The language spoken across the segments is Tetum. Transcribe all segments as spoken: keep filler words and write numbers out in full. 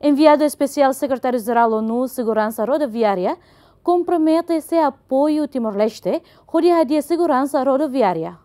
Enviadu Espesiál Sekretáriu Jerál ONU Seguransa Rodoviária kompromete sei apoia Timor-Leste hodi hadi'a seguransa rodoviária.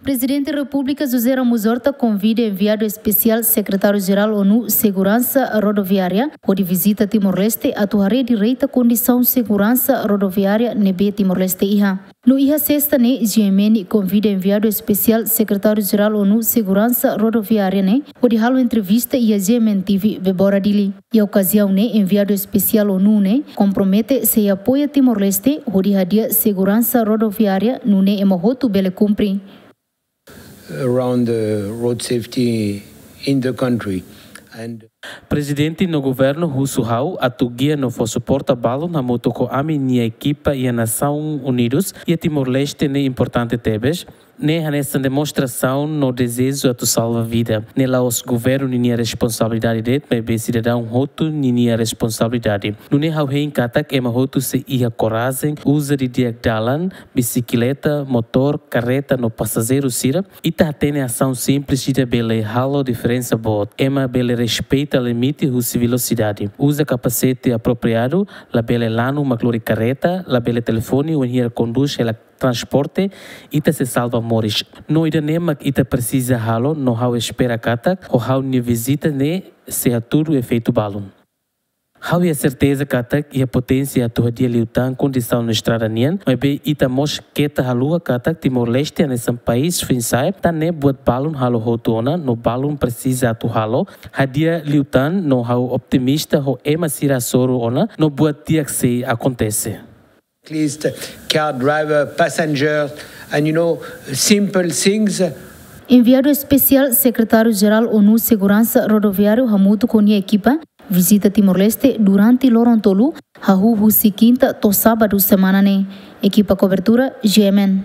Prezidente Repúblika José Ramos Horta konvida Enviadu Espesiál Sekretáriu Jerál ONU Seguransa Rodoviária hodi vizita Timor-Leste atu haree direta kondisaun seguransa rodoviária ne'ebé Timor-Leste iha. No iha sesta ne'e, G M N konvida Enviadu Espesiál Sekretáriu Jerál ONU Seguransa Rodoviária ne'e hodi halo entrevista iha G M N T V Bebora Dili. Iha okaziaun ne'e, Enviadu Espesiál ONU ne'e kompromete sei apoia Timor-Leste hodi hadi'a seguransa rodoviária nune'e ema hotu bele kumpre. Around the road safety in the country. And Prezidente no governu husu ha'u atu gia no fó suporta balun hamutuk ho ami-nia ekipa iha Nasaun Unidus iha Timor-Leste ne'e importante tebes. Ne'e hanesan demonstrasaun no dezeju atu salva vida. Ne'e la'ós governu ninia responsabilidade de'it, maibé sidadaun hotu ninia responsabilidade. Nune'e ha'u hein katak ema hotu sei iha korajen, uza didi'ak dalan, bisikleta, motór, karreta no pasajeiru sira. Ita hatene asaun simples ida bele halo diferensa boot. Ema bele respeita limite husi velosidade. Uza kapasete apropriadu, labele lanu mak lori karreta, labele telefone wainhira kondús hela transporte, ita sei salva moris. No ida-ne'e mak ita presiza halo, no ha'u espera katak ho ha'u-nia vizita ne'e sei hatudu efeitu balun. Ha'u iha serteza katak iha poténsia atu hadi'a liután kondisaun estrada nian, maibé ita mós keta haluha katak Timor-Leste hanesan país foin-sa'e, tan ne'e buat balun halo hotu ona, no balun presiza atu halo, hadi'a liután, no ha'u optimista ho ema sira hasoru ona, no buat di'ak sei akontese. Cyclist, car driver, passenger, and, you know, simple things. Enviadu Espesiál Sekretáriu Jerál ONU Seguransa Rodoviária hamutuk ho nia ekipa vizita Timor-Leste durante loron tolu, hahú husi kinta to'o sábadu semana ne'e. Ekipa kobertura, G M N.